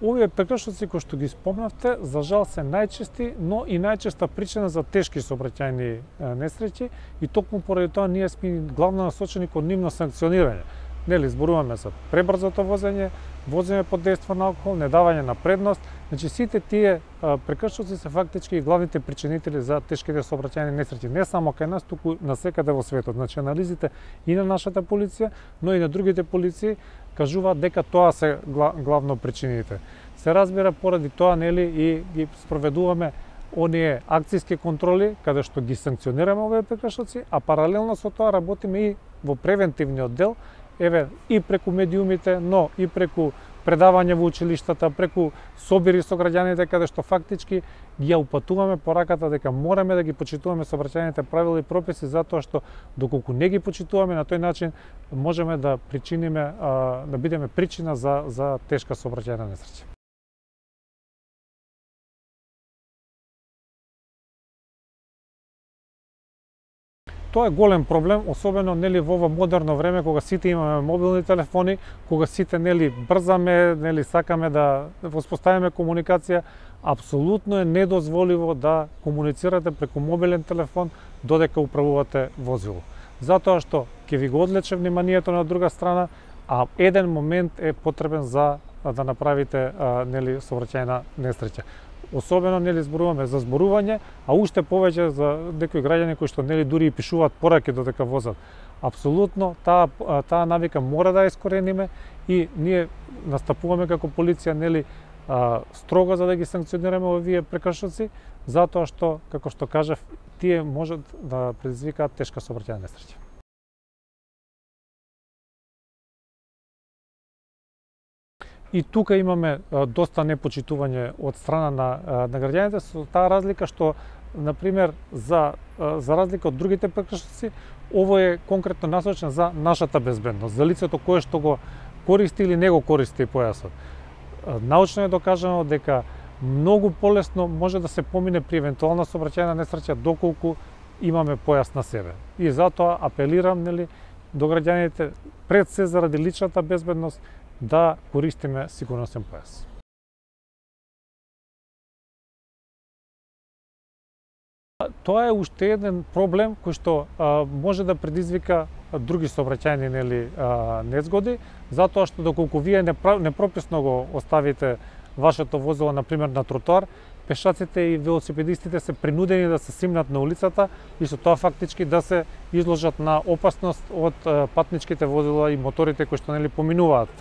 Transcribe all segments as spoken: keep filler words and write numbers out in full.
Овие прекршоци кои што ги спомнавте, за жал се најчести, но и најчеста причина за тешки сообраќајни несреќи и токму поради тоа ние сме главно насочени кон нивно санкционирање. Нели, зборуваме за пребрзото возење, возење под дејство на алкохол, недавање на предност. Значи сите тие прекршоци се фактички и главните причинители за тешките сообраќајни несреќи, не само кај нас, туку насекаде во светот. Значи анализите и на нашата полиција, но и на другите полиции кажуваат дека тоа се главно причините. Се разбира поради тоа, нели, и ги спроведуваме оние акцијски контроли каде што ги санкционираме овие прекршоци, а паралелно со тоа работиме и во превентивниот дел, еве и преку медиумите, но и преку предавање во училиштата, преку собири со граѓаните каде што фактички ги ја упатуваме пораката дека мораме да ги почитуваме сообраќајните правила и прописи, затоа што доколку не ги почитуваме, на тој начин можеме да причиниме, да бидеме причина за за тешка сообраќајна несреќа. Тоа е голем проблем, особено нели во ова модерно време кога сите имаме мобилни телефони, кога сите нели брзаме, нели сакаме да воспоставиме комуникација, апсолутно е недозволиво да комуницирате преку мобилен телефон додека управувате возило. Затоа што ќе ви го одлече вниманието на друга страна, а еден момент е потребен за да направите нели сообраќајна несреќа. Особено нели зборуваме за зборување, а уште повеќе за некои граѓани кои што нели дури и пишуваат пораки додека возат. Апсолутно таа таа навика мора да ја искорениме и ние настапуваме како полиција нели строго за да ги санкционираме овие прекршоци, затоа што, како што кажав, тие можат да предизвикаат тешка сообраќајна несреќа. И тука имаме доста непочитување од страна на, на граѓаните, со таа разлика што, например, за, за разлика од другите прекршоци, ово е конкретно насочен за нашата безбедност, за лицето кое што го користи или не го користи појасот. Научно е докажано дека многу полесно може да се помине при евентуална сообраќајна несреќа доколку имаме појас на себе. И затоа апелирам нели до граѓаните пред се заради личната безбедност да користиме сигурносен појас. Тоа е уште еден проблем кој што а, може да предизвика други сообраќајни нели незгоди, затоа што доколку вие непрописно го оставите вашето возило на пример на тротоар, пешаците и велосипедистите се принудени да се симнат на улицата и со тоа фактички да се изложат на опасност од патничките возила и моторите кои што нели поминуваат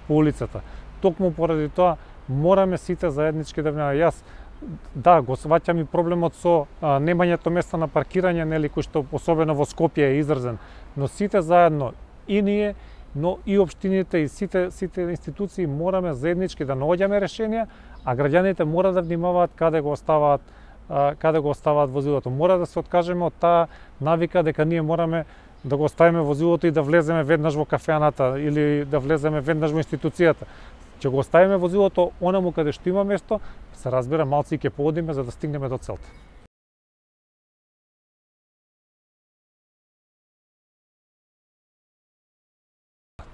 по улицата. Токму поради тоа мораме сите заеднички да внимаваме. Јас да го сваќам и проблемот со а, немањето места на паркирање, нели, кој што особено во Скопје е изразен, но сите заедно и ние, но и општините и сите сите институции мораме заеднички да наоѓаме решенија, а граѓаните мора да внимаваат каде го оставаат а, каде го оставаат возилото. Мора да се откажеме од таа навика дека ние мораме да го оставиме возилото и да влеземе веднаш во кафеаната или да влеземе веднаш во институцијата. Ќе го оставиме возилото онаму каде што има место, се разбира, малци ќе поодиме за да стигнеме до целта.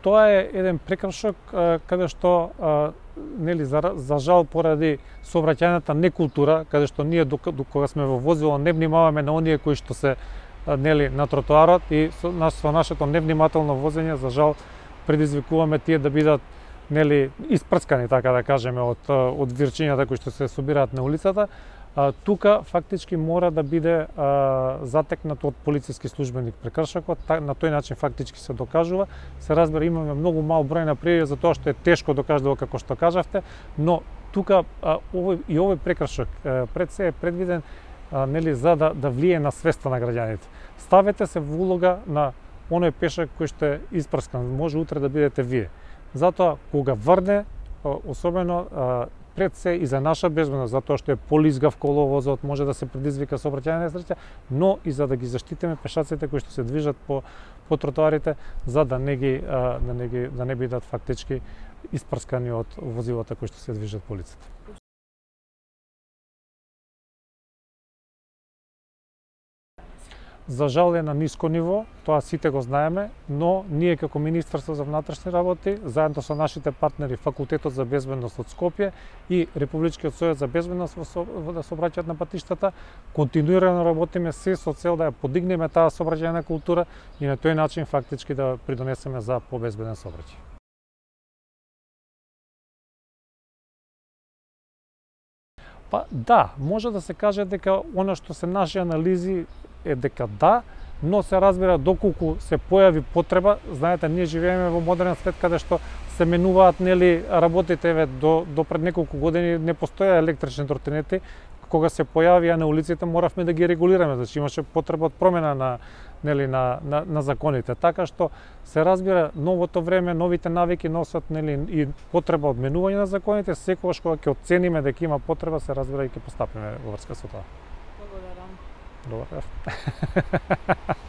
Тоа е еден прекршок каде што нели за, за жал поради сообраќајната некултура, каде што ние кога сме во возило не внимаваме на оние кои што се нели на тротоарот и со, со нашето невнимателно возење за жал предизвикуваме тие да бидат нели испрскани, така да кажеме, од од вирчињата кои што се собираат на улицата. А, тука фактички мора да биде а, затекнат од полициски службеник прекршокот, на тој начин фактички се докажува. Се разбира, имаме многу мал број на пријави за тоа што е тешко докажливо како што кажавте, но тука а, овој и овој прекршок а, пред се е предвиден а, нели за да да влие на свеста на граѓаните. Ставете се во улога на оној пешак кој што е испрскан, може утре да бидете вие. Затоа кога врне, особено пред се и за наша безбедност, затоа што е полизгав коловозот, може да се предизвика сообраќајна несреќа, но и за да ги заштитиме пешаците кои што се движат по по тротоарите, за да не ги да не ги да не бидат фактички испрскани од возилата кои што се движат по улицата. за жал е на ниско ниво, тоа сите го знаеме, но ние како Министерство за внатрешни работи, заедно со нашите партнери Факултетот за безбедност од Скопје и Републичкиот совет за безбедност во сообраќајот на патиштата, континуирано работиме се со цел да ја подигнеме таа сообраќајна култура и на тој начин фактички да придонесеме за побезбеден сообраќај. Па да, може да се каже дека она што се наши анализи е дека да, но се разбира доколку се појави потреба, знаете, ние живееме во модерен свет каде што се менуваат нели работите, еве до до пред неколку години не постоја електрични тротинети, кога се појавија на улиците моравме да ги регулираме, значи имаше потреба од промена на нели на, на на законите. Така што се разбира новото време, новите навики носат нели и потреба од менување на законите, секогаш кога ќе оцениме дека има потреба, се разбира и ќе постапиме во врска со тоа. Благодарам. Добар.